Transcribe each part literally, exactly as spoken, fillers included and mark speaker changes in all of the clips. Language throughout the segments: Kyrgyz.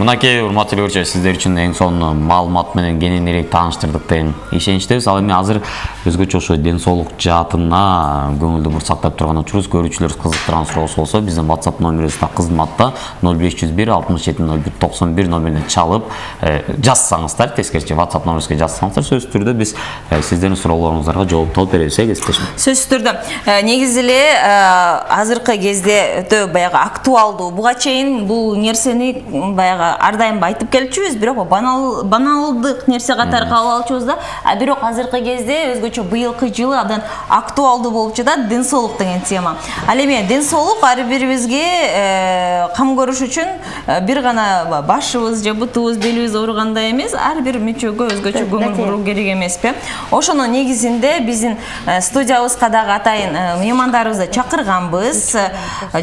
Speaker 1: Мынакей урматтуу көрүүчүлөр, сиздер үчүн эң сонун маалымат менен кененирээк тааныштырдык деген ишеничтебиз. Ал эми азыр өзгөчө ошо ден соолук жаатына көңүлдү бур сактап турган учурубуз. Көрүүчүлөр кызыктырган суроосу болсо, биздин WhatsApp номерибизде кызматта ноль беш жүз бир алтымыш жети ноль бир токсон бир номерине чалып жазсаңыздар, тескерисинче WhatsApp номерибизге жазсаңыздар, сөзсүз түрдө биз сиздердин суроолоруңуздарга жооп алып беребиз, э, кесиптешим.
Speaker 2: Сөзсүз түрдө. Негизи эле азыркы кезде өтө баягы актуалдуу. Буга чейин бул нерсени баягы ар дайым айтып келчүбүз, бирок банал баналдык нерсе катары кабыл алчубуз да. А бирок азыркы кезде өзгөчө быйылкы жылы абдан актуалдуу болуп жатат ден соолук деген тема. Ал эми ден соолук ар бирибизге кам көрүш үчүн бир гана башыбыз же бутубуз, белибиз ооруганда эмес, ар бир мүчөгө өзгөчө көңүл буруу керек эмеспи? Ошонун негизинде биздин студиябызга дагы атайын меймандарыбызды чакырганбыз.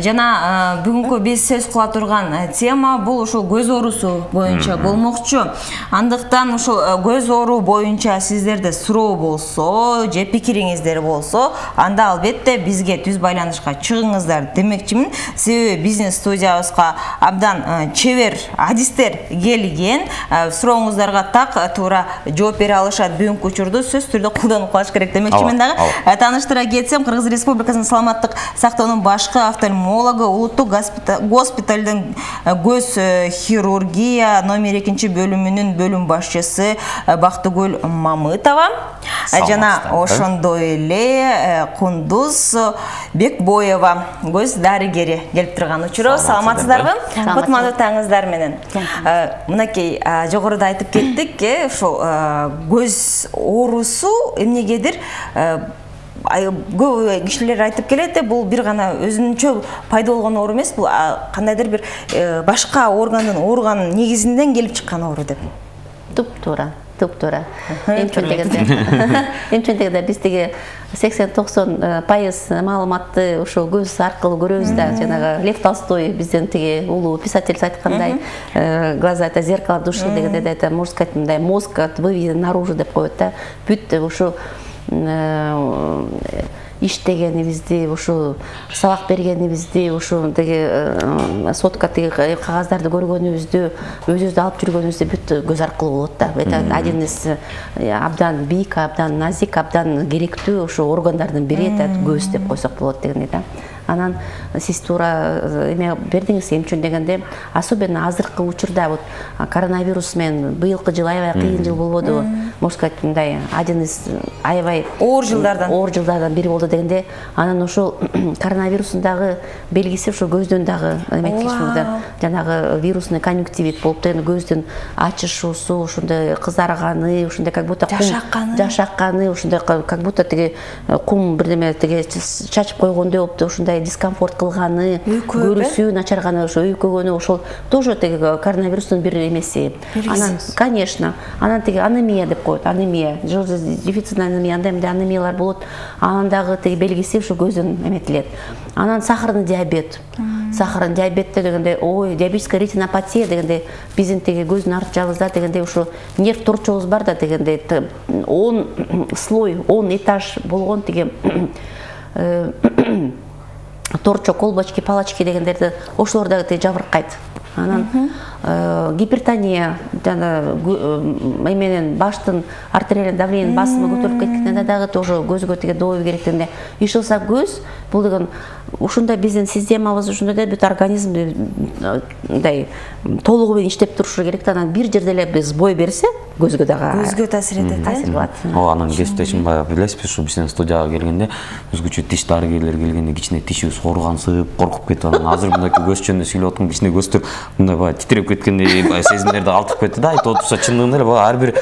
Speaker 2: Жана бүгүнкү биз сөз кыла турган тема бул ушул көз оорусу боюнча болмокчу. Андыктан ушул көз оору боюнча сиздерде суроо болсо, же пикириңиздер болсо, анда албетте бизге түз байланышка чыгыңыздар демекчимин. Себеби биздин студиябызга абдан чебер адистер келген. Сурооңуздарга так туура жооп бере алышат. Бүгүнкү учурду сөзсүз түрдө колдонуп калыш керек демекчимин дагы. Тааныштыра кетсем, Кыргыз Республикасынын саламаттык сактоонун башкы офтальмологу, улуттук госпиталдын көз хирургия номер экинчи бөлүмүнүн бөлүм башчысы Бактыгүл Мамытова жана ошондой эле Кундуз Бекбоева көз дарыгери келип турган учуру. Саламатсыздарбы? Кутмандуу таңыңыздар менен. Мынакей жогоруда айтып кеттик, ошо көз оорусу эмнегедир көп кишилер айтып келет, бул бир гана өзүнчө пайда болгон оору эмес, бул кандайдыр бир башка органдын ооруганын негизинен келип чыккан оору деп.
Speaker 3: Туп туура, туп туура. Эмчен дегенде, эмчен дегенде биз тиги сексен токсон пайыз маалыматты ошо көз аркылуу көрөбүз да. Жанагы Лев Толстой биздин тиги улуу писатель айткандай, глаза это зеркало души дегенде, это можно сказать, мындай мозг выведен наружу деп коет да. Бүт ушу иштегенибизди, ушу сабак бергенибизди, ушу тиги сотка тиги кагаздарды көргөнүбүздү, өзүбүздү алып жүргөнүбүздү бүт көз аркылуу болот да. Это один из абдан бийик, абдан назик, абдан керектүү ушу органдардын бири көз деп койсок болот дегендей да. Анан сиз туура эме бердиңиз, эмчен дегенде, особенно азыркы учурда вот коронавирус менен быйылкы жыл аябай кыйын жыл болбоду, можно сказать, мындай один из аябай
Speaker 2: оор жылдардан
Speaker 3: оор жылдардан бири болду дегенде, анан ошол коронавирустун дагы белгиси ошо көздөн дагы эметишүүдө, жанагы вирусный конъюнктивит болуп деген көздүн ачышуусу, ошондой кызарганы, ошондой как будто
Speaker 2: жашакканы,
Speaker 3: жашакканы, ошондой как будто тиги кум бирдеме тиги чачып койгондой болуп, ошондой дискомфорт кылганы, көрүүсү начарганы, ошо үйкөгөнү, ошол тоже тиги коронавирустун бир эмеси. Анан, конечно, анан тиги анемия деп коет, анемия, дефицитный анемия, андай мындай анемиялар болот. Анан дагы тиги белгиси ушу көздөн эметилет. Анан сахарный диабет. Сахарный диабетте дегенде, ой, диабетическая ретинопатия дегенде, биздин тиги көздүн арт жагыбызда дегенде ушу нерв торчогубуз бар да дегенде, он слой, он этаж болгон тиги торчо, колбочки, палочки дегендерди ошолор дагы жабыркайт. Анан гипертония, жана эменен баштын артериальный давление басымы көтөрүлүп кеткенде дагы тоже көзгө тиги добой керек дегенде. Ишылса көз бул деген ушундай биздин системабыз ушундай да бүт организм мындай толугу менен иштеп турушу керек да. Анан бир жерде эле биз бой берсе, көзгө дагы
Speaker 2: көзгө таасир этет,
Speaker 3: таасир кылат.
Speaker 1: О, анан кесиптешим баягы билесизби, ушу биздин студияга келгенде өзгөчө тиш дарыгерлер келгенде кичине тишибиз ооргансып, коркуп кетип, анан азыр мындайкы көз жөнүндө сүйлөп аткан кичине көздөр мындай баягы титиреп кеткендей сезимдерди алтып кетти да. Айтып отурса, чындыгында эле баягы ар бир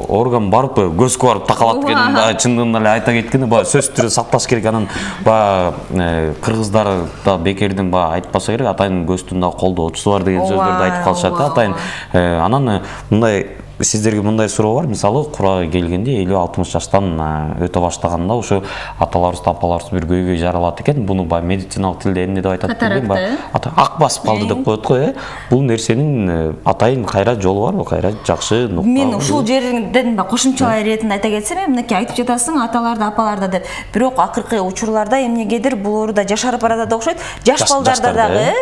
Speaker 1: орган барып көзгө барып такалат экенин баягы чындыгында эле айта кеткенде баягы сөзсүз түрдө сакташ керек. Анан баягы кыргыздар да бекерден баягы айтпаса керек, атайын көздүн да колдоочусу бар деген сөздөрдү айтып калышат да атайын. Анан мындай сиздерге мындай суроо бар, мисалы курага келгенде элүү алтымыш жаштан өтө баштаганда ошо аталарыбыз, апаларыбыз бир көйгөй жаралат экен. Буну баягы медициналык тилде эмне деп айтат билбейм, баягы ак басып калды деп коет го, э. Бул нерсенин атайын кайра жолу барбы? Кайра жакшы нукта.
Speaker 2: Мен ушул жерден кошумчалай иретинде айта кетсем, мынакей айтып жатасың аталарда, апаларда деп. Бирок акыркы учурларда эмнегедир булар да жашарып барат да окшойт. Жаш балдарда дагы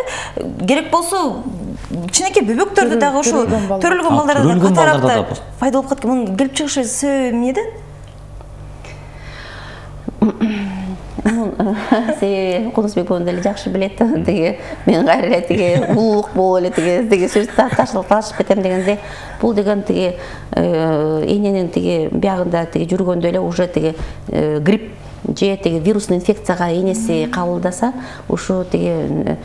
Speaker 2: керек болсо кичинекей бөбөктөрдө дагы ошо төрөлгөн балдарда катаракта пайда болуп кеткен. Мунун келип чыгышы себеби эмнеде?
Speaker 3: Себеби Кунусбек боюн деле жакшы билет. Тиги мен кайра эле тиги улуулук болуп эле тиги тиги сөз ташылып ташып кетем дегенде, бул деген тиги эненин тиги биягында тиги жүргөндө эле уже тиги грипп же тиги вирусный инфекцияга энеси кабылдаса, ушу тиги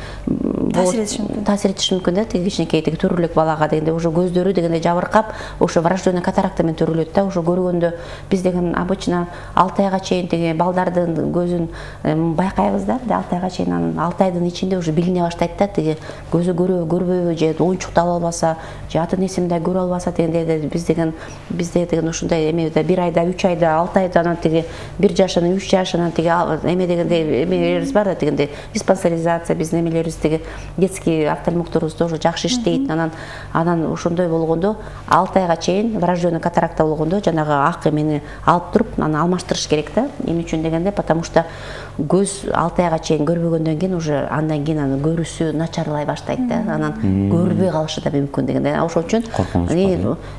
Speaker 3: таасир этиши мүмкүн да, тиги кичинекей тиги төрөлөк балага дегенде уже көздөрү дегенде жабыркап, ошо врожденный катаракта менен төрөлөт да. Ошо көргөндө биз деген обычно алты айга чейин тиги балдардын көзүн байкайбыз да. алты айга чейин анан алты айдын ичинде уже билине баштайт да, тиги көзү көрөбү, көрбөйбү, же оюнчукту ала албаса, же ата энесин да көрө албаса дегенде биз деген бизде деген ушундай эмеде бир айда, үч айда, алты айда анан тиги бир жашынан үч жашынан тиги эме дегенде эмелерибиз бар да, дегенде диспансеризация биздин эмелерибиз тиги детский офтальмологторубуз тоже жакшы иштейт. Анан анан ошондой болгондо алты айга чейин врожденный катаракта болгондо жанагы ак эмени алып туруп анан алмаштырыш керек да. Эмне үчүн дегенде, потому что көз алты айга чейин көрбөгөндөн кийин уже андан кийин анын көрүүсү начарлай баштайт да. Анан көрбөй калышы да мүмкүн дегенде. Ошол үчүн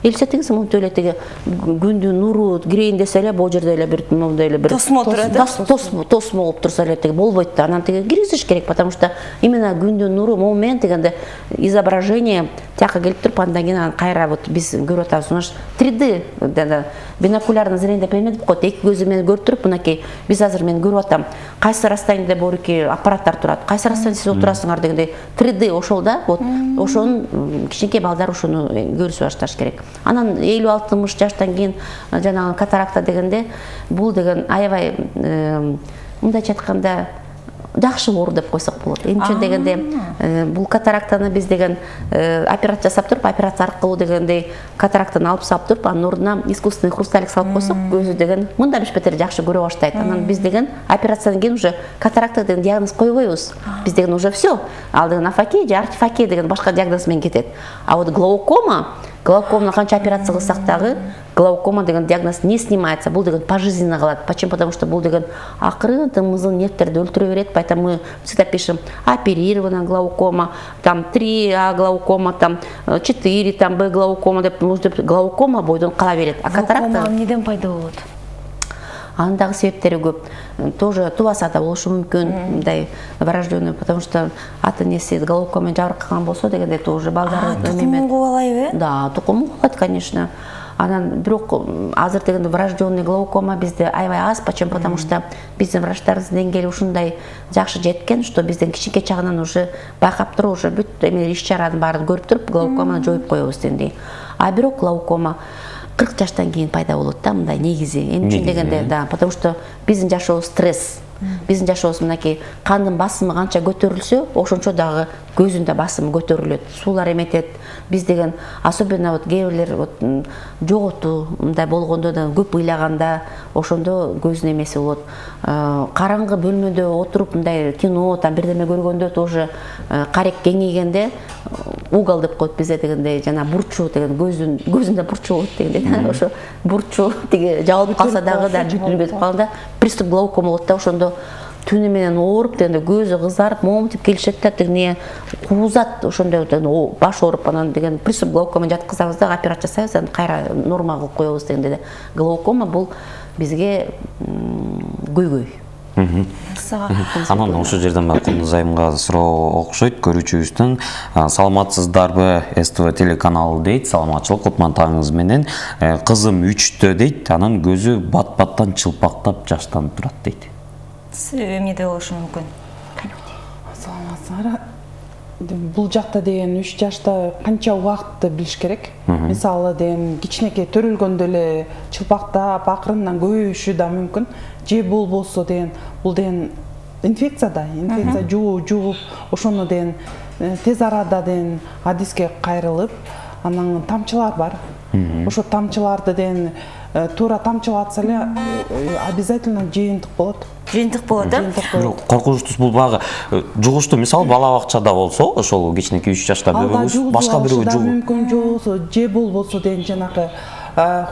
Speaker 3: элестетиңиз, монтип эле тиги күндүн нуру кирейин десе эле бул жерде эле бир мондай эле бир
Speaker 2: тосмо турат,
Speaker 3: тосмо болуп турса эле тиги болбойт да. Анан тиги киргизиш керек, потому что именно күндүн нуру момент дегенде изображение тияка келип туруп, андан кийин анан кайра вот биз көрүп атабыз. Уна три дэ бинокулярный зрение деп эметип коет. Эки көзү менен көрүп туруп, мынакей биз азыр мен көрүп атам. Кайсы расстояниеде борки аппараттар турат, кайсы расстояниеде сиз отурасыңар дегенде три дэ ошол да. Вот ошонун кичинекей балдар ошону көрүшүп башташ керек. Анан элүү алтымыш жаштан кийин жанагы катаракта дегенде бул деген аябай мындайча айтканда жакшы оору деп койсок болот. Эмне үчүн дегенде бул катарактаны биз деген операция жасап туруп, операция аркылуу дегенде катарактаны алып салып туруп, анын ордуна искусственный хрусталик салып койсок, көзү деген мындан беш бетер жакшы көрө баштайт. Анан биз деген операциядан кийин уже катаракта деген диагноз койбойбуз. Биз деген уже все. Ал деген афакей же артифакей деген башка диагноз менен кетет. А вот глаукома, глаукоманы канча операция кылсак дагы глаукома деген диагноз не снимается, бул деген пожизненно калат. Почему? Потому что бул деген акырын тымызын нервтерди өлтүрө берет. Поэтому мы всегда пишем оперирована глаукома, там три А глаукома, там четыре там Б глаукома деп, глаукома бойдон кала берет. А катаракта
Speaker 2: глаукома эмнеден пайда болот?
Speaker 3: Анын дагы себептери көп. Тоже тубаса да болушу мүмкүн, мындай врожденный, потому что ата энеси глаукомамен жабыркаган болсо дегенде тоже балдары
Speaker 2: тукумун кубалайбы?
Speaker 3: Да, тукумун кубалайт, конечно. Анан бирок азыр дегенде врожденный глаукома бизде аябай аз. Почему? Потому что биздин врачтарыбыздын деңгээли ушундай жакшы жеткен, что бизден кичинекей чагынан уже байкап туруп, уже бүт эме иш чаранын баарын көрүп туруп, глаукоманы жоюп коебуз дегендей. А бирок глаукома кырк жаштан кийин пайда болот да, мындай негизи. Эмне үчүн дегенде, да, потому что биздин жашообуз стресс. Биздин жашообуз мынакей кандын басымы канча көтөрүлсө, ошончо дагы көзүн да басымы көтөрүлөт, суулар эметет. Биз деген особенно вот кээ бирлер вот жоготу мындай болгондо да көп ыйлаганда ошондо көзүнүн эмеси болот. Караңгы бөлмөдө отуруп мындай кино, там бирдеме көргөндө тоже карек кеңейгенде угол деп коет бизде дегенде, жана бурчу деген көзүн көзүндө бурчу болот дегенде. Ошо бурчу тиги жабылып калса дагы да бүтүнүп калганда приступ глаукома болот да. Ошондо түнү менен ооруп дегенде көзү кызарып, моментип келишет да, тигине куузат, ошондой баш ооруп, анан деген приступ глаукома жаткызабыз да, операция жасайбыз, анан кайра норма кылып коебуз дегенде. Глаукома бул бизге көйгөй.
Speaker 1: Анан ошол жерден Кундуз айымга суроо окшойт көрүүчүбүздөн. Саламатсыздарбы, эс тэ вэ телеканалы дейт. Саламатчылык, кутман таңыңыз менен. Кызым үчтө дейт, анын көзү бат-баттан чылпактап жаштанып турат дейт.
Speaker 2: Себеби эмнеде болушу мүмкүн?
Speaker 4: Саламатсыздар. Бул жакта деген үч жашта канча убакытты билиш керек. Мисалы деген кичинекей төрөлгөндө эле чылпактап акырындан көбөйүшү да мүмкүн. Же бул болсо деген бул деген инфекция да, инфекция жугуп, ошону деген тез арада деген адиске кайрылып, анан тамчылар бар. ошо тамчыларды деген туура тамчылатса эле обязательно жыйынтык болот.
Speaker 2: Жыйынтык болот, э?
Speaker 1: Бирок коркунучтуусу бул баягы жугуштуу, мисалы бала бакчада болсо, ошол кичинекей үч жашта бөбөгүбүз башка бирөө жугуп
Speaker 4: мүмкүн жолсо, же болбосо деген жанагы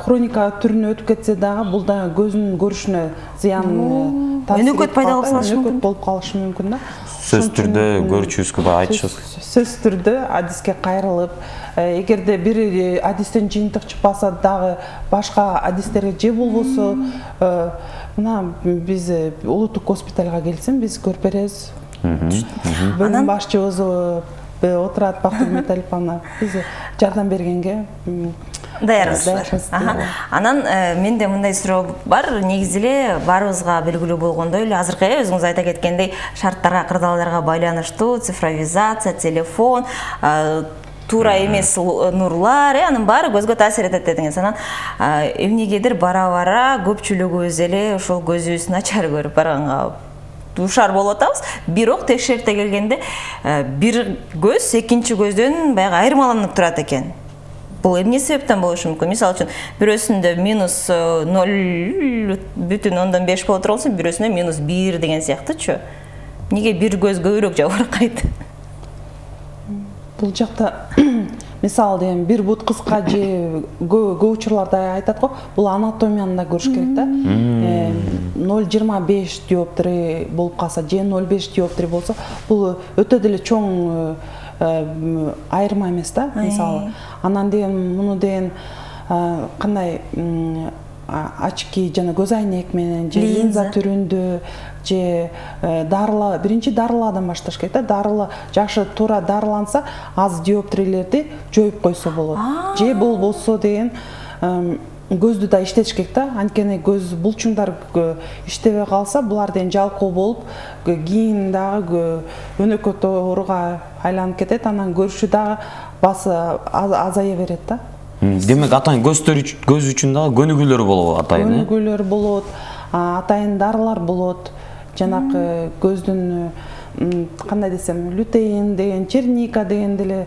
Speaker 4: хроника түрүнө өтүп кетсе дагы бул да көздүн көрүшүнө зыян
Speaker 2: өнөкөт пайда
Speaker 4: өнөкөт болуп калышы мүмкүн да.
Speaker 1: Сөз түрдө көрүүчүбүзгө баягы айтышыбыз.
Speaker 4: Сөз түрдө адиске кайрылып, эгерде бир адистен жыйынтык чыкпаса дагы башка адистерге же болбосо мына биз улуттук госпитальга келсин, биз көрүп беребиз. Бөлүм башчыбыз отурат, Бактыгүл Металиповна, биз жардам бергенге
Speaker 2: даярбыз. Анан менде мындай суроо бар. Негизи эле баарыбызга белгилүү болгондой эле азыркы өзүңүз айта кеткендей шарттарга, кырдаалдарга байланыштуу цифровизация, телефон, туура эмес нурлар, анын баары көзгө таасир этет дедиңиз. Анан эмнегедир бара-бара көпчүлүгүбүз эле ошол көзүбүз начар көрүп барганга душар болуп атабыз. Бирок текшерипте келгенде бир көз экинчи көздөн баягы айырмаланып турат экен. Бул эмне себептен болушу мүмкүн? Мисалы үчүн, бирөөсүндө минус ноль бүтүн ондон беш боло турган болсо, бирөөсүндө минус бир деген сыяктуучу. Неге бир көз көбүрөөк жабыркайт?
Speaker 4: Бул жакта мисалы деген бир бут кыска же көп учурларда айтат го, бул анатомияны да көрүш керек да. ноль жыйырма беш диоптри болуп калса, же ноль беш диоптри болсо, бул өтө деле чоң айырма эмес да, мисалы. Анан деген муну деген кандай очки жана көз айнек менен же линза түрүндө же дарыла, биринчи дарыладан башташ керек да. Дарыла жакшы туура дарыланса, аз диоптрилерди жоюп койсо болот. Же болбосо деген көздү да иштетиш керек да. Анткени көз булчуңдар иштебей калса, булар деген жалкоо болуп, кийин дагы өнөкөт ооруга айланып кетет, анан көрүшү дагы басы азая берет да.
Speaker 1: Демек атайын көздөр көз үчүн дагы көнүгүүлөр болот атайын.
Speaker 4: Көнүгүүлөр болот, атайын дарылар болот. Жанакы көздүн кандай десем, лютеин деген, черника деген деле,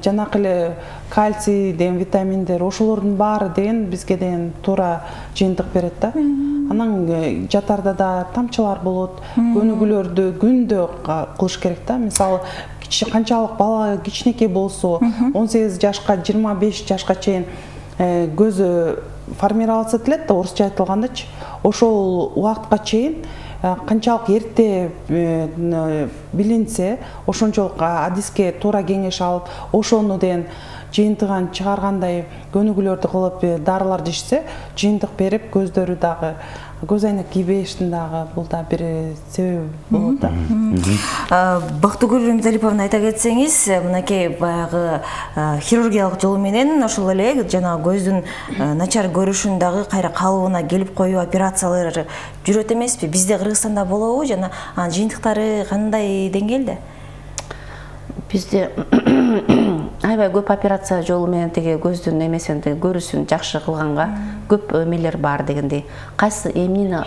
Speaker 4: жанакы эле кальций деген витаминдер, ошолордун баары деген бизге деген туура жыйынтык берет да. Анан жатарда да тамчылар болот, көнүгүүлөрдү күндө кылыш керек да. Мисалы, канчалык бала кичинекей болсо, он сегиз жашка, жыйырма беш жашка чейин көзү формироваться этилет да, орусча айтылгандачы. Ошол убакытка чейин канчалык эрте билинсе, ошончолук адиске туура кеңеш алып, ошону деген жыйынтыгын чыгаргандай көнүгүүлөрдү кылып, дарыларды ичсе, жыйынтык берип, көздөрү дагы көз айнек кийбештин дагы бул да бир себеби болот да.
Speaker 2: Бактыгүл Металиповна айта кетсеңиз, мынакей баягы хирургиялык жолу менен ошол эле жана көздүн начар көрүшүн дагы кайра калыбына келип коюу операциялары жүрөт эмеспи? Бизде Кыргызстанда болобу жана анын жыйынтыктары кандай деңгээлде?
Speaker 3: Бизде аябай көп операция жолу менен теге көздүн эмесин, көрүүсүн жакшы кылганга көп эмелер бар дегендей. Кайсы эмнени,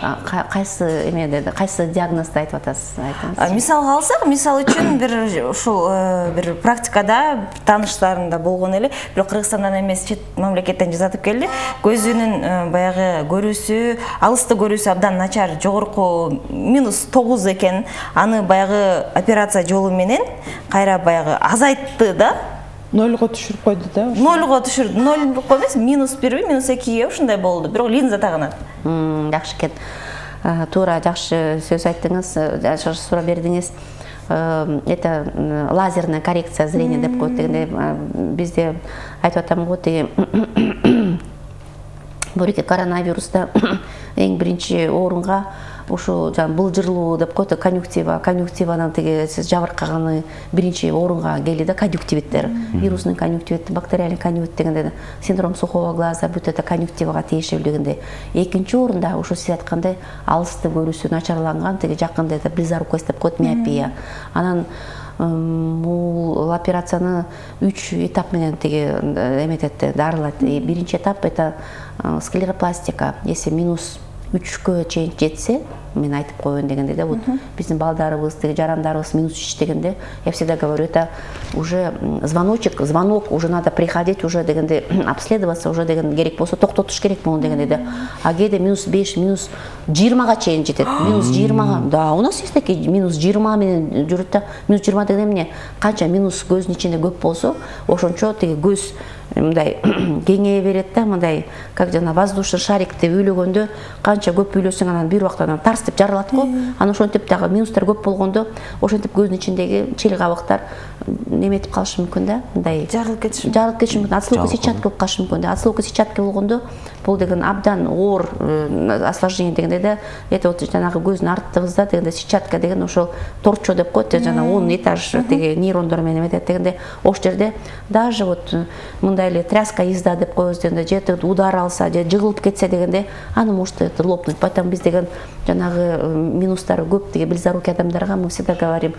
Speaker 3: кайсы эмеде, кайсы диагнозду айтып атасыз? Айтыңыз.
Speaker 2: Мисалга алсак, мисалы үчүн бир ушул бир практикада таныштарымда болгон эле, бирок Кыргызстандан эмес, чет мамлекеттен жазатып келди. Көзүнүн баягы көрүүсү, алысты көрүүсү абдан начар, жогорку минус тогуз экен. Аны баягы операция жолу менен кайра баягы азайтты да.
Speaker 4: Нольго түшүрүп койду да.
Speaker 2: Нольго түшүрдү. Ноль эмес, минус бирби, минус экиге ушундай болду. Бирок линза тагынат.
Speaker 3: Жакшы экен. Туура жакшы сөз айттыңыз, жакшы суроо бердиңиз. Это лазерная коррекция зрения деп коет дегенде бизде айтып атам го, теги бул коронавируста эң биринчи орунга ушу жан былжырлуу деп коет, конъюнктива, конъюнктиванын теги жабыркаганы биринчи орунга келди да, конъюнктивиттер, вирусный конъюнктивит, бактериальный конъюнктивит дегенде синдром сухого глаза, бүт это конъюнктивага тиешелүү дегенде. Экинчи орунда ушу сиз айткандай алысты көрүүсү начарланган, теги жакында это близорукость деп коет, миопия. Анан бул операцияны үч этап менен теги эметет, дарылайт. Биринчи этап это склеропластика. Если минус үчкө чейин жетсе, мен айтып коеюн дегенде да, вот биздин балдарыбыз, тиги жарандарыбыз минус үч дегенде, я всегда говорю, это уже звоночек, звонок, уже надо приходить, уже дегенде обследоваться, уже деген керек болсо токтотуш керек муну дегенде да. А кээде минус беш, минус жыйырмага чейин жетет. Минус жыйырмага. Да, у нас есть такие минус жыйырма менен жүрөт да. Минус жыйырма деген эмне? Канча минус көздүн ичинде көп болсо, ошончо тиги көз мындай кеңейе берет да, мындай как жана воздушный шарикти үйлөгөндө канча көп үйлөсөң анан бир убакта анан тарс деп жарылат го. Анан ошентип дагы минустар көп болгондо ошентип көздүн ичиндеги чел кабыктар неметип калышы мүмкүн да, мындай
Speaker 2: жарылып кетиши
Speaker 3: жарылып кетиши мүмкүн. Отслойка сетчатка болуп калышы мүмкүн да. Отслойка сетчатка болгондо бул деген абдан оор осложнение дегенде да, это вот жанагы көздүн артыбызда дегенде сетчатка деген ошол торчо деп коет, жана он этаж тиги нейрондор менен эметет дегенде, ошол жерде даже вот мындай эле тряска езда деп коебуз дегенде, же удар алса, же жыгылып кетсе дегенде, аны может это лопнуть. Поэтому биз деген жанагы минустары көп тиги близорукий адамдарга мы всегда говорим,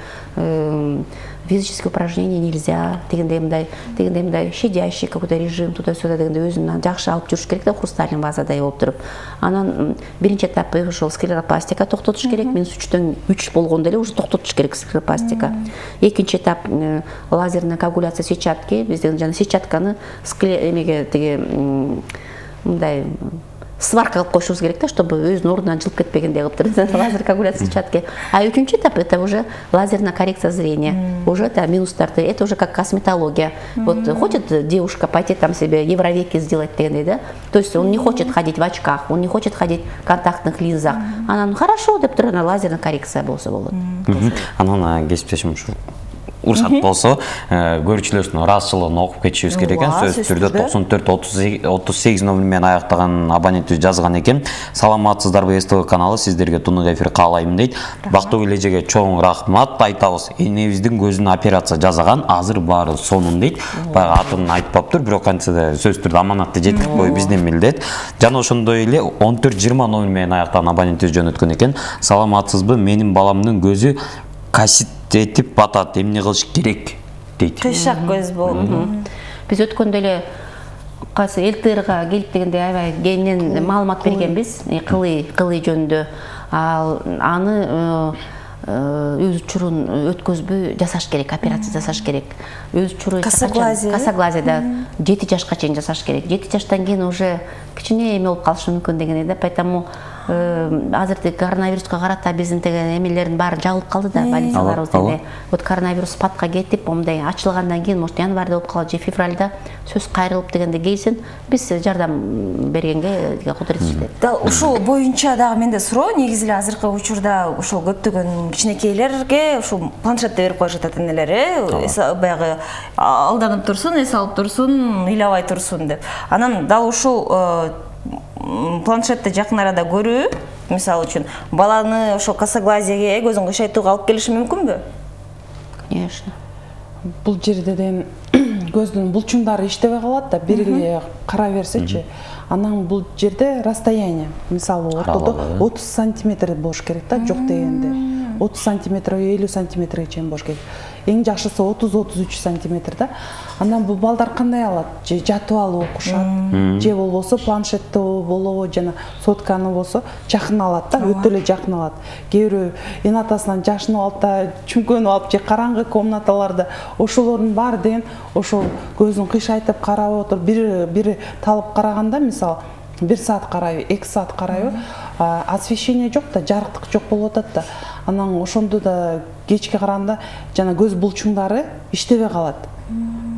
Speaker 3: физические упражнения нельзя, дегенде мындай, дегенде мындай щадящий какой-то режим туда-сюда дегенде өзүн жакшы алып жүрүш керек да, хрусталин вазадай болуп туруп. Анан биринчи этапы ошол склеропластика токтотуш керек, минус үчтөн үч болгондо эле уже токтотуш керек склеропластика. Экинчи этап лазерная коагуляция сетчатки, биз деген жана сетчатканы скле эмеге тиги мындай сварка кылып коюшубуз керек да, чтобы өзүнүн ордунан жылып кетпегендей кылып туруп лазер коагуляция сетчатки. А үчүнчү этап это уже лазерная коррекция зрения. Уже это минустарды, это уже как косметология. Вот хочет девушка пойти там себе евровеки сделать дегендей, да? То есть он не хочет ходить в очках, он не хочет ходить в контактных линзах. Анан хорошо деп туруп лазерная коррекция болсо болот.
Speaker 1: Анан кесиптешим ушу уруксат болсо, көрүүчүлөрдүн ыраазычылыгын окуп кетишибиз керек экен. Сөзсүз түрдө токсон төрт отуз сегиз номер менен аяктаган абонентибиз жазган экен. Саламатсыздарбы СТВ каналы, сиздерге тунук эфир каалайм дейт. Бактыгүл эжеге чоң рахмат айтабыз. Энебиздин көзүнө операция жасаган, азыр баары сонун дейт. Баягы атын айтпаптыр, бирок кантсе сөзсүз түрдө аманатты жеткирип коюу биздин милдет. Жана ошондой эле он төрт жыйырма номер менен аяктаган абонентибиз жөнөткөн экен. Саламатсызбы, менин баламдын көзү касит этип батат, эмне кылыш керек дейт.
Speaker 2: Кыйшак көз болду.
Speaker 3: Биз өткөндө эле кайсы ЛТРга келип дегенде аябай кеңинен маалымат бергенбиз, кылый, кылый жөнүндө. Ал аны өз учурун өткөзбөй жасаш керек, операция жасаш керек. Өз учуру
Speaker 2: косоглазия,
Speaker 3: косоглазия да жети жашка чейин жасаш керек. жети жаштан кийин уже кичине эме болуп калышы мүмкүн дегендей да, поэтому азыр коронавируска карата биздин деген эмелердин баары жабылып калды да, больницаларыбыз дене. Вот коронавирус спадка кетип, мындай ачылгандан кийин, может январда болуп калат же февралда сөз кайрылып дегенде келсин, биз жардам бергенге кудурет иштейт.
Speaker 2: Дал ушул боюнча дагы менде суроо, негизи эле азыркы учурда ошол көптөгөн кичинекейлерге ушул планшетти берип коюшат ата-энелер, э, баягы алданып турсун, эс алып турсун, ыйлабай турсун деп. Анан дал ушул планшетти жакын арада көрүү, мисалы үчүн, баланы ошол косоглазияга, көзүн кыйшайтууга алып келиши мүмкүнбү?
Speaker 3: Конечно.
Speaker 4: Бул жерде ден көздүн булчуңдары иштебей калат да, бир эле кара берсечи. Анан бул жерде расстояние, мисалы ортодо отуз сантиметр болуш керек да, жок дегенде. отуз сантиметр, элүү сантиметрге чейин болуш керек. Эң жакшысы отуз отуз үч сантиметр да. Анан бул балдар кандай алат? Же жатып алып окушат, же болбосо планшетти болобу, жана сотканы болсо жакын алат да, өтө эле жакын алат. Кээ бирөө эн атасынан жашынып алып да, чүмкөнүп алып же караңгы комнаталарда ошолордун баары деген ошол көзүн кыйшайтып карап отуруп, бир бир талып караганда, мисалы бир саат карайбы, эки саат карайбы, освещение жок да, жарыктык жок болуп атат да. Анан ошондо да кечке караганда жана көз булчуңдары иштебей калат.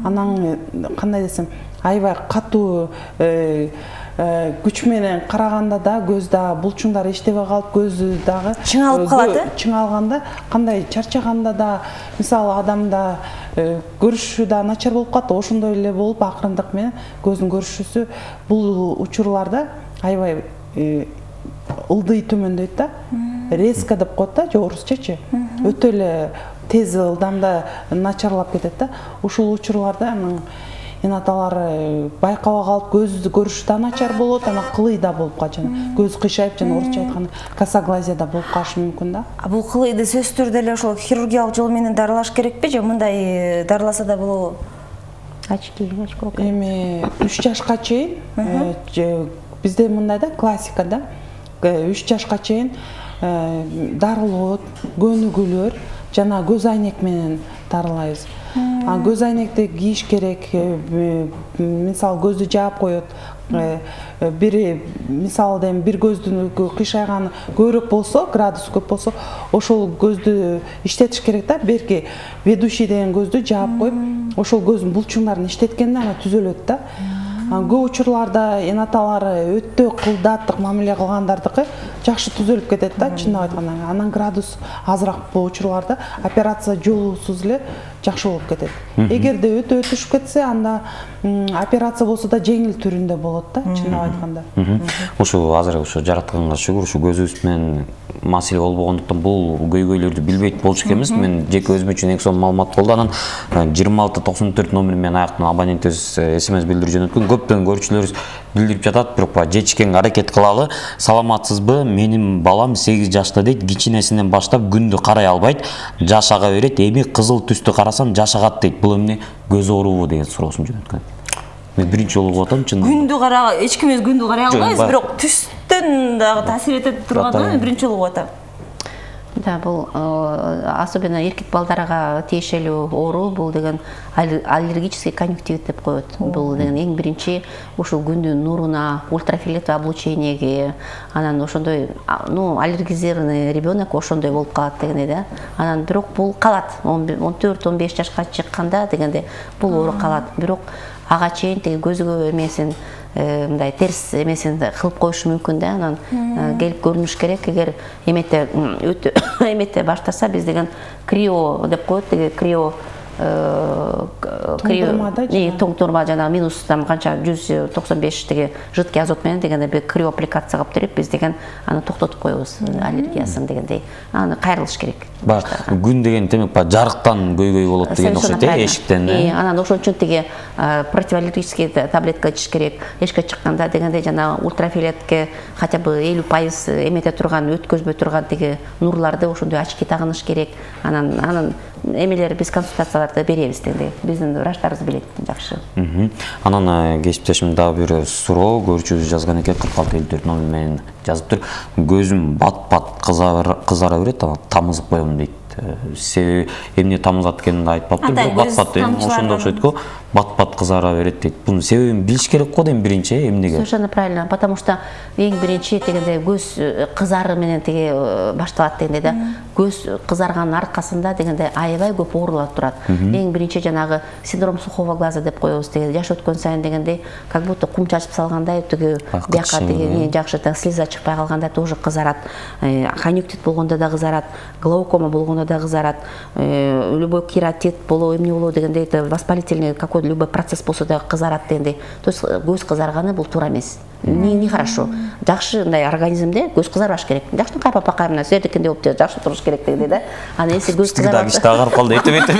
Speaker 4: Анан кандай десем, аябай катуу күч менен караганда да көз да булчуңдары иштебей калып, көзү дагы
Speaker 2: чыңалып калат, э?
Speaker 4: Чыңалганда, кандай чарчаганда да, мисалы адамда көрүшү да начар болуп калат, ошондой эле болуп акырындык менен көздүн көрүшүсү бул учурларда аябай ылдый төмөндөйт да. Резко деп коет да, же орусчачы. Өтө эле тез ылдамда начарлап кетет да. Ушул учурларда анан эн аталар байкабай калып көздү көрүшү да начар болот, анан кылый да болуп калат, жана көз кыйшайып, жана орусча айтканда косоглазия да болуп калышы мүмкүн да.
Speaker 2: А бул кылыйды сөзсүз түрдө эле ошол хирургиялык жол менен дарылаш керекпи, же мындай дарыласа да болобу?
Speaker 3: Очки, очко.
Speaker 4: Эми үч жашка чейин бизде мындай да, классика да. үч жашка чейин дарылоо, көнүгүүлөр жана көз айнек менен дарылайбыз. Көз айнекти кийиш керек. Мисалы көздү жаап коет. Бир мисалы дем бир көздүн кыйшайганы көбүрөөк болсо, градус көп болсо, ошол көздү иштетиш керек да. Берки ведущий деген көздү жаап коюп, ошол көздүн булчуңдарын иштеткенде ана түзөлөт да. Көп учурларда эн аталары өтө кылдаттык мамиле кылгандардыкы жакшы түзөлүп кетет да, чындап айтканда. Анан градус азыраак бул учурларда операция жолусуз эле жакшы болуп кетет. Эгерде өтө түшүп кетсе, анда операция болсо да жеңил түрүндө болот да, чындап айтканда.
Speaker 1: Ушу азыр ушу жаратканга шүгүр, ушу көзүбүз менен маселе болбогондуктан бул көйгөйлөрдү билбейт болчу экенбиз. Мен жеке өзүм үчүн эң сонун маалымат болду. Анан жыйырма алты токсон төрт номери менен аяктан абонентибиз смс билдирүү жөнөткөн. Көптөгөн көрүүчүлөрүбүз билдирип жатат, бирок жетишкенге аракет кылалы. Саламатсызбы? Менин балам сегиз жашта дейт, кичинесинен баштап күндү карай албайт, жаш ага берет, эми кызыл түстү карасам жаш агат дейт. Бул эмне, көз оорубу деген суроосун жөнөткөн. Мен биринчи жолу угуп атам, чын.
Speaker 2: Күндү кара, эч кимиз күндү карай албайбыз, бирок түстөн дагы таасир этет тургандыгы мен биринчи жолу угуп атам.
Speaker 3: Да, бул особенно эркек балдарга тиешелүү оору, бул деген аллергический конъюнктивит деп коет. Бул деген эң биринчи ушул күндүн нуруна, ультрафиолетовый облучениеге, анан ошондой, ну, аллергизированный ребенок ошондой болуп калат дегенде да. Анан бирок бул калат, он төрт он беш жашка чыкканда дегенде бул оору калат. Бирок ага чейин теги көзгө эмесин, мындай терс эмесин кылып коюшу мүмкүн да. Анан келип көрүнүш керек. Эгер эмете өтө эмете баштаса, биз деген крио деп коет, теги крио тоңтурма жана минус там канча жүз токсон беш теги жидкий азот менен дегенде бир крио аппликация кылып берип, биз деген аны токтотуп коебуз аллергиясын дегендей. Аны кайрылыш керек.
Speaker 1: Күн деген демек жарыктан көйгөй болот деген окшойт, эшиктен.
Speaker 3: Анан ошон үчүн теги противоаллергический таблетка ичиш керек. Эшикке чыкканда дегенде жана ультрафиолетке хотя бы элүү пайыз эмете турган, өткөзбөй турган теги нурларды ошондой очки тагыныш керек. Анан анан эмелер биз консультацияларды беребиз дегенде. Биздин врачтарыбыз билет жакшы.
Speaker 1: Анан кесиптешим дагы бир суроо көрүүчүбүз жазган экен, кырк алты элүү төрт номер менен жазыптыр. Көзүм бат-бат кызара берет, тамызып коем дейт. Себеби эмне тамызат экенин айтпаптыр, бирок бат-бат ошондой окшойт го, бат-бат кызара берет дейт. Бунун себебин билиш керек го дейм биринчи, эмнеге?
Speaker 3: Совершенно правильно, потому что эң биринчи дегенде көз кызары менен теге башталат дегенде да. Көз кызарганын аркасында дегенде аябай көп оорулар турат. Эң биринчи жанагы синдром сухого глаза деп коебуз, теге жаш өткөн сайын дегенде как будто кум чачып салгандай, теге бияка теге жакшы слеза чыкпай калганда тоже кызарат. Конъюнктивит болгондо да кызарат, глаукома болгондо да кызарат, любой кератит боло, эмне боло дегенде, это воспалительный какой любой процесс болсо да кызарат дегенде. То есть көз кызарганы бул туура эмес. Не не хорошо. Жакшы мындай организмде көз кызарбаш керек. Жакшы кайпа пакаймына сerdikinde болуп жакшы туруш керек дегенде да. Аны эси көз кызарат.
Speaker 1: Кичтеги агарып калды, этеп этеп.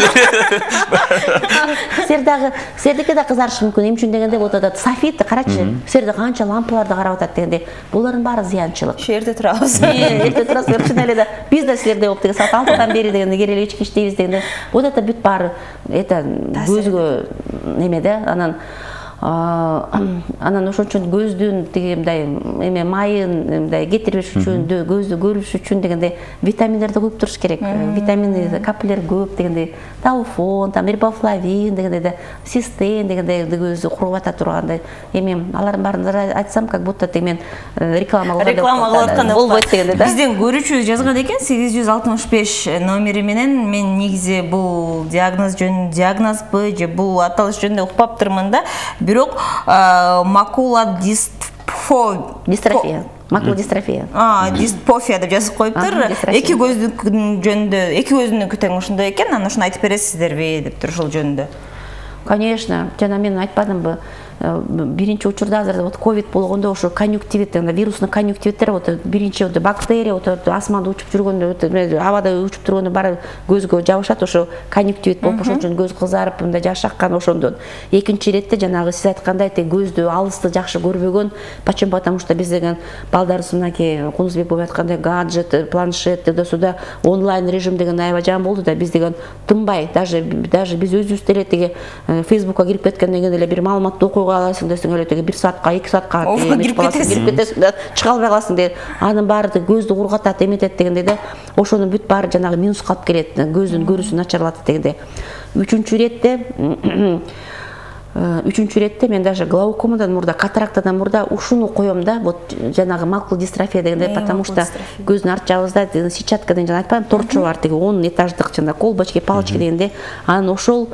Speaker 3: Сердагы сердикке да кызарышы мүмкүн. Эмне үчүн дегенде вот этот софит, карачы, серде канча лампаларды карап атат дегенде, булардын баары зыянчылык.
Speaker 2: Шерде турабыз.
Speaker 3: Эрте турасыз, чын эле да. Биз да силерде болуп деген саат алтыдан бери дегенде керели ички иштейбиз дегенде, вот это бүт баары это көзгө неме да, анан анан ошон үчүн көздүн тиги мындай эме майын мындай кетирбеш үчүн, көздү көрүш үчүн дегенде витаминдерди куюп туруш керек. Витамин капиллер көп дегенде, тауфон, там рибофлавин дегенде да, цистеин дегенде көздү куруп ата тургандай. Эми алардын баарын айтсам, как будто мен реклама кылгандай
Speaker 2: реклама кылып аткандай
Speaker 3: болбойт дегенде да.
Speaker 2: Биздин көрүүчүбүз жазган экен, сегиз жүз алтымыш беш номери менен мен негизи бул диагноз жөн диагнозбу же бул аталыш жөнүндө укпаптырмын да. Бирок макула
Speaker 3: дистрофия. Макула дистрофия.
Speaker 2: А, диспофия деп жазып коюптур. Эки көздүн жөнүндө, эки көздүн тең ошондой экен, анан ошону айтып бересиздерби деп ошол жөнүндө.
Speaker 3: Конечно, жана мен айтпадымбы, биринчи учурда азыр вот ковид болгондо ошо конъюнктивит, вирусный конъюнктивиттер вот биринчи вот бактерия вот асманда учуп жүргөндө, абада учуп тургондо баары көзгө жабышат, ошо конъюнктивит болуп ошон үчүн көз кызарып, мындай жаш аккан ошондон. Экинчи иретте жанагы сиз айткандай тег көздү алысты жакшы көрбөгөн, почему? Потому что биз деген балдарыбыз мынакей Кунузбек болуп айткандай гаджет, планшет, туда-сюда онлайн режим деген аябай жам болду да, биз деген тынбай, даже даже биз өзүбүз деле теги Фейсбукка кирип кеткенден кийин эле бир маалыматты окуй кое аласың десең эле теги бир саатка эки саатка
Speaker 2: кирип кетесиң
Speaker 3: кирип кетесиң да чыга албай каласың деген. Анын баары көздү кургатат, эметет дегенде да ошонун бүт баары жанагы минуска алып келет, көздүн көрүүсүн начарлатат дегенде. Үчүнчү иретте Үчүнчү иретте мен даже глаукомадан мурда, катарактадан мурда ушуну коем да, вот жанагы макул дистрофия дегенде, потому что көздүн арт жагыбызда сетчатка деген жана айтпайм, торчо бар, теги он этаждык жана колбочки, палочки дегенде, анан ошол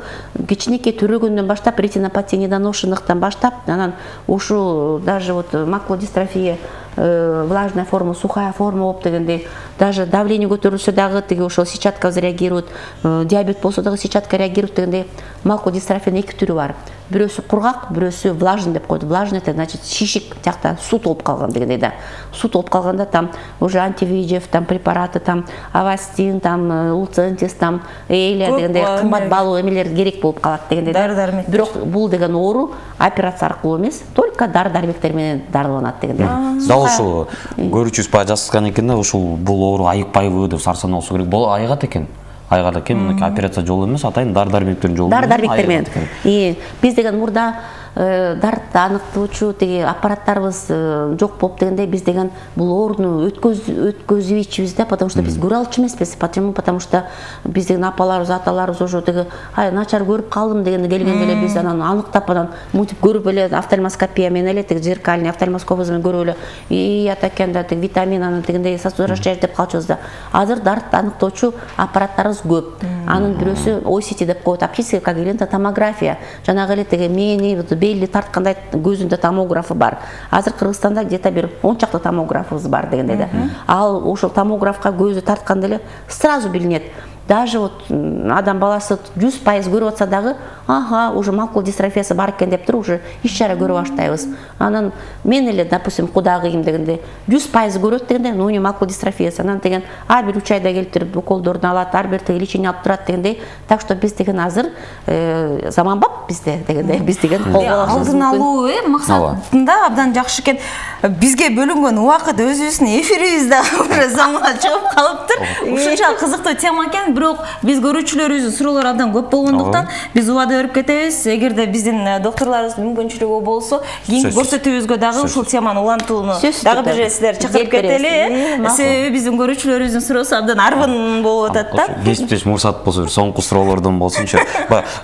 Speaker 3: кичинекей төрөгөндөн баштап, ретинопатия недоношенныктан баштап, анан ушу даже вот макул дистрофия, влажная форма, сухая форма болуп дегенде, даже давление көтөрүлсө дагы теги ошол сетчатка реагирует, диабет болсо дагы сетчатка реагирует дегенде, макул дистрофиянын эки түрү бар. Бирөөсү кургак, бирөөсү влажный деп койду. Влажный это значит шишик, тиякта суу толуп калган дегендей да. Суу толуп калганда там уже антивижев, там препараты, там авастин, там луцентис, там эйлия дегендей кымбат баалуу эмелер керек болуп калат дегендей да. Бирок бул деген оору операция аркылуу эмес, только дары-дармектер менен дарыланат дегендей.
Speaker 1: Дал ушул көрүүчүбүз баягы жазышкан экен да, ушул бул оору айыкпайбы деп сарсанаа болсо керек. Бул айыгат экен. Айгада экен, мынакей операция жолу эмес, атайын дары-дармектердин жолу.
Speaker 3: Дары-дармектер менен. Биз деген мурда дарытты аныктоочу теги аппараттарыбыз жок болуп дегенде, биз деген бул ооруну өткөзүбөйчүбүз да, потому что биз көрө алчу эмеспиз. Почему? Потому что биз деген апаларыбыз, аталарыбыз ошо теги ай начар көрүп калдым дегенде келгенде эле биз анан аныктап анан мынтип көрүп эле офтальмоскопия менен эле теги зеркальный офтальмоскопибыз менен көрүп эле и ата экен да, теги витамин анан дегендей сосудорастяжь деп калчубуз да. Азыр дарытты аныктоочу аппараттарыбыз көп. Анын бирөөсү о си ти деп коет, оптическая когерентная томография. Жанагы эле теги мээни белли тарткандай көзүндө томографы бар. Азыр Кыргызстанда где-то бир он чакты томографыбыз бар дегенде да. Ал ошол томографка көздү тартканда эле сразу билинет. Даже вот адам баласы жүз пайыз көрүп атса дагы, ага, уже макул дистрофиясы бар экен деп туруп уже иш-чара көрүп баштайбыз. Анан мен эле, допустим, кудагыйым дегенде жүз пайыз көрөт дегенде, ну не макул дистрофиясы. Анан деген ар бир үч айда келип туруп уколдорун алат, ар бир теги лечение алып турат дегенде. Так что биз деген азыр заманбап бизде дегенде, биз деген
Speaker 2: алдын алуу максатында абдан жакшы экен. Бизге бөлүнгөн убакыт өзүбүздүн эфирибизде уже заманга чыгып калыптыр. Ушунчалык кызыктуу тема экен. Бирок биз көрүүчүлөрүбүздүн суроолору абдан көп болгондуктан биз убада берип кетебиз. Эгерде биздин докторлорубуздун мүмкүнчүлүгү болсо, кийинки көрсөтүүбүзгө дагы ушул теманы улантууну дагы бир сиздерди чакырып кетели. Себеби биздин көрүүчүлөрүбүздүн суроосу абдан арбын болуп атат да. Кесиптеш
Speaker 1: мурсат болсо, соңку суроолордон болсунчу.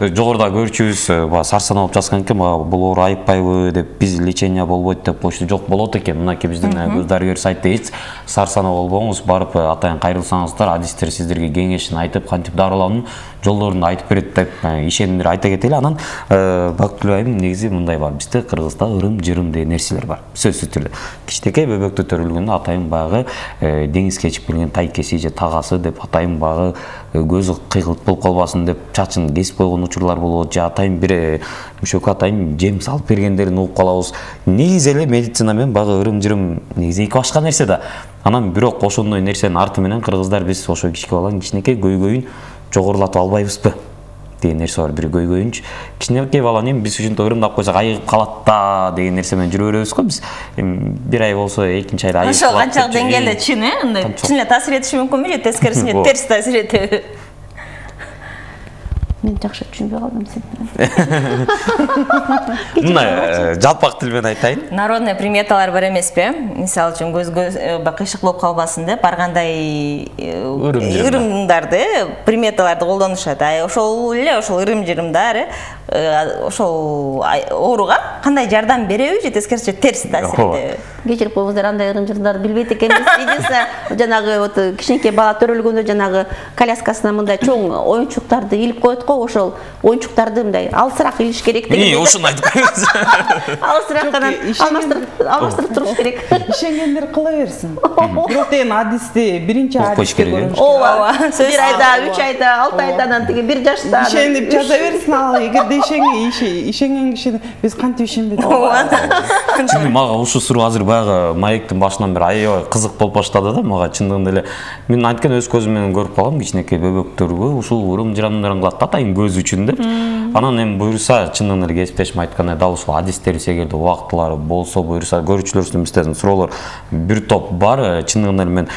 Speaker 1: Жогоруда көрүүчүбүз сарсанаа болуп жазган экен, бул оору айыкпайбы деп, биз лечение болбойт деп коюшту. Жок, болот экен. Мынакей биздин көз дарыгер сайтта эч сарсанаа болбоңуз, барып атайын кайрылсаңыздар, адистер сиздерге кеңешин айтып, кантип дарылаанын жолдорун айтып берет деп ишендир айта кетели. Анан Бактылуу айым, негизи мындай бар. Бизде Кыргызда ырым-жырым деген нерселер бар. Сөзсүз түрдө. Кичинекей бөбөктө төрөлгөндө атайын багы деңизге чыгып келген тайкеси же тагасы деп, атайын багы көзү кыйгылт болуп калбасын деп чачын кесип койгон учурлар болот, же атайын бир мüşөккө атайын жем салып бергендерин угуп калабыз. Негизи эле медицина менен багы ырым-жырым негизи эки башка нерсе да. Анан бирок ошондой нерсенин арты менен кыргыздар биз ошо кичке баланын кичинекей көйгөйүн жогорулатып албайбызбы деген нерсе бар. Бир көйгөйүнчү кичинекей баланы эми биз ушинтип ырымдап койсок айыгып калат да деген нерсе менен жүрө беребиз го биз. Бир ай болсо экинчи айда айыгып калат.
Speaker 2: Ошол канчалык деңгээлде чын э? Андай чын эле таасир этиши мүмкүнбү же тескерисинче терс таасир этеби?
Speaker 3: Мен жакшы түшүнбөй калдым сени.
Speaker 1: Мына жалпак тил менен айтайын.
Speaker 2: Народный приметалар бар эмеспи? Мисалы үчүн көзгө кыйшык болуп калбасын деп ар кандай ырымдарды, приметаларды колдонушат. Ошол эле ошол ырым-жырымдар ошол ооруга кандай жардам береби же тескерисинче терс таасир этеби?
Speaker 3: Кечирип коюңуздар, андай ырым-жырымдарды билбейт экенбиз. Единственное, жанагы вот кичинекей бала төрөлгөндө жанагы коляскасына мындай чоң оюнчуктарды илип коет го, ошол оюнчуктарды мындай алысыраак илиш керек деген.
Speaker 1: Эмне ушуну айтып коюңуз.
Speaker 3: Алысыраак алмаштырып алмаштырып туруш керек.
Speaker 4: Ишенгендер кыла берсин. Бирок деген адисти биринчи адисти көрүнүш.
Speaker 3: Ооба, бир айда, үч айда, алты айдан тиги бир жашта
Speaker 4: ишенип жаза берсин. Ал эгерде ишенген ишенген кишини биз кантип ишенбедик?
Speaker 1: Чын мага ушул суроо азыр баягы маектин башынан бери аябай кызык болуп баштады да. Мага чындыгында эле мен анткени өз көзүм менен көрүп калгам, кичинекей бөбөктөргө ушул ырым-жырамдарын кылат атайын көз үчүн деп. Анан эми буюрса чындыгында эле кесиптешим айткандай дал ушул адистерибиз эгерде убактылары болсо буюрса көрүүчүлөрүбүздүн бизден суроолор бир топ бар. Чындыгында эле мен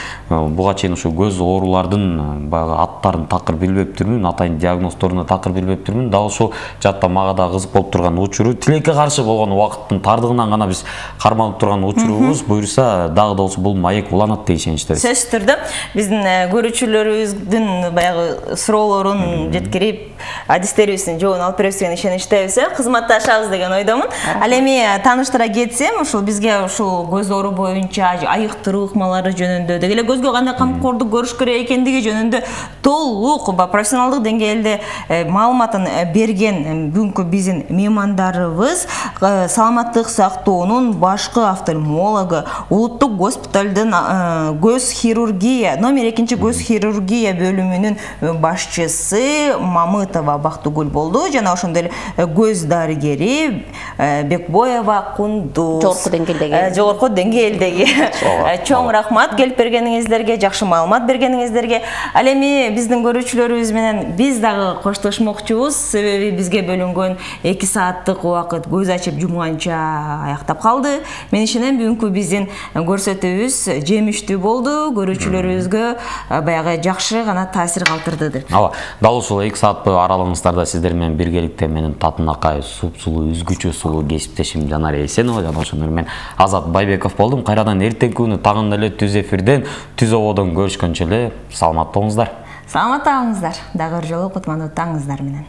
Speaker 1: буга чейин ушул көз оорулардын баягы аттарын такыр билбептирмин, атайын диагноздоруна такыр билбептирмин. Дал ушул жакта мага да кызык болуп турган учуру, тилекке каршы болгон убакыттын тардыгынан гана биз кармалып турган учурубуз. Буюрса дагы да болсо бул маек уланат деп ишеничтебиз.
Speaker 2: Сөзсүз түрдө биздин көрүүчүлөрүбүздүн баягы суроолорун жеткирип, адистерибиздин жообун алып беребиз деген ишеничтебиз, кызматташабыз деген ойдомун. Ал эми тааныштыра кетсем, ушул бизге ушул көз оору боюнча айыктыруу ыкмалары жөнүндө, деги эле көзгө кандай камкордук көрүш керек экендиги жөнүндө толук профессионалдык деңгээлде маалыматын берген бүгүнкү биздин меймандарыбыз саламаттык сактоонун башкы офтальмологу, улуттук госпиталдын көз хирургия, номер экинчи көз хирургия бөлүмүнүн башчысы Мамытова Бактыгүл болду, жана ошондой эле көз дарыгери Бекбоева Кундуз.
Speaker 3: Жогорку деңгээлдеги.
Speaker 2: Жогорку деңгээлдеги. Чоң рахмат келип бергениңиздерге, жакшы маалымат бергениңиздерге. Ал эми биздин көрүүчүлөрүбүз менен биз дагы коштошмокчубуз, себеби бизге бөлүнгөн эки сааттык убакыт көз ачып жумганча аяктап калды. Мен ишенем бүгүнкү биздин көрсөтүүбүз жемиштүү болду, көрүүчүлөрүбүзгө баягы жакшы гана таасир калтырды деп.
Speaker 1: Ооба, дал ушул эки саат аралыгыңыздарда сиздер менен биргеликте менин татынакай супсулуу үзгүчө сулуу кесиптешим Жанар Эсенова жана ошондой менен Азат Байбеков болдум. Кайрадан эртеңки күнү тагын эле түз эфирден, түз ободон көрүшкөнчө эле саламатта болуңуздар.
Speaker 2: Саламатта болуңуздар. Дагы бир жолу кутмандуу таңыңыздар менен.